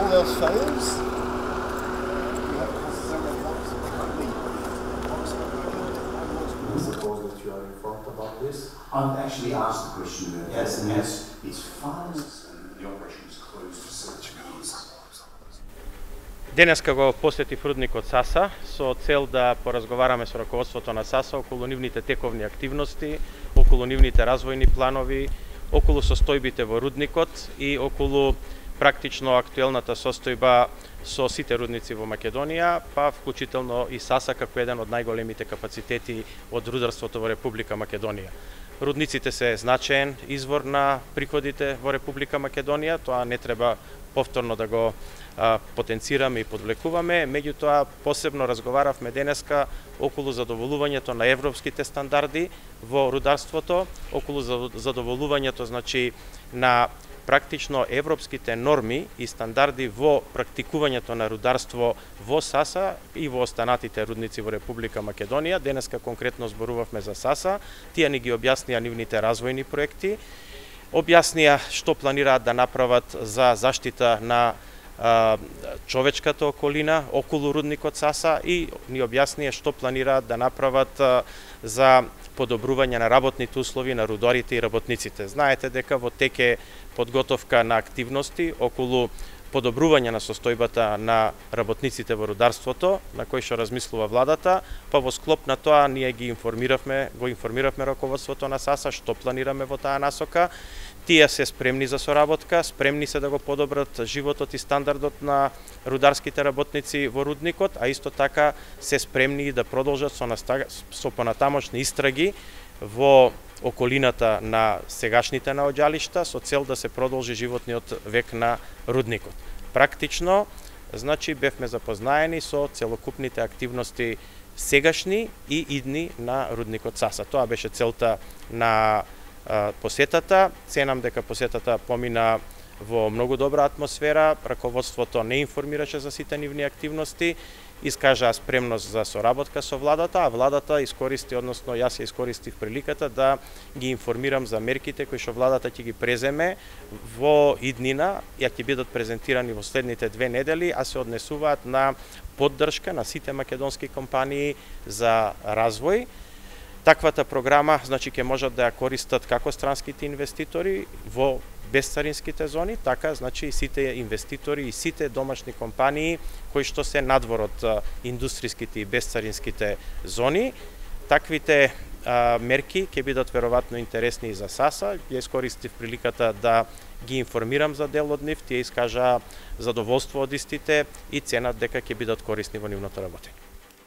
everything else fails, suppose that you are informed about this? I've actually asked the question Yes, and yes. it's funds and the operation is closed for 6 years. Денеска го посетив рудникот Саса со цел да поразговараме со раководството на Саса околу нивните тековни активности, околу нивните развојни планови, околу состојбите во рудникот и околу практично актуелната состојба со сите рудници во Македонија, па вклучително и Саса како еден од најголемите капацитети од рударството во Република Македонија. Рудниците се значаен извор на приходите во Република Македонија, тоа не треба повторно да го потенцираме и подвлекуваме, меѓутоа посебно разговаравме денеска околу задоволувањето на европските стандарди во рударството, околу задоволувањето значи на практично европските норми и стандарди во практикувањето на рударство во Саса и во останатите рудници во Република Македонија. Денеска конкретно зборувавме за Саса, тие ни ги објаснија нивните развојни проекти, објаснија што планираат да направат за заштита на човечката околина околу рудникот Саса и ни објаснија што планираат да направат за подобрување на работните услови на рударите и работниците. Знаете дека во тек е подготовка на активности околу подобрување на состојбата на работниците во рударството, на кој што размислува владата, па во склоп на тоа ние го информиравме раководството на Саса што планираме во таа насока. Тие се спремни за соработка, спремни се да го подобрат животот и стандардот на рударските работници во рудникот, а исто така се спремни да продолжат со понатамошни истраги во околината на сегашните наоѓалишта со цел да се продолжи животниот век на рудникот. Практично, значи бевме запознаени со целокупните активности сегашни и идни на рудникот Саса. Тоа беше целта на посетата. Ценам дека посетата помина во многу добра атмосфера, раководството не информираше за сите нивни активности, искажаа спремност за соработка со владата, а владата искористи, односно јас ја искористив приликата да ги информирам за мерките кои што владата ќе ги преземе во иднина, ја ќе бидат презентирани во следните 2 недели, а се однесуваат на поддршка на сите македонски компании за развој. Таквата програма, значи, ќе можат да ја користат како странските инвеститори во безцаринските зони, така, значи, и сите инвеститори и сите домашни компании кои што се надвор од индустриските и безцаринските зони. Таквите мерки ќе бидат веројатно интересни и за Саса. Ја искористив приликата да ги информирам за дел од нив, тие искажаа задоволство од истите и ценат дека ќе бидат корисни во нивното работење.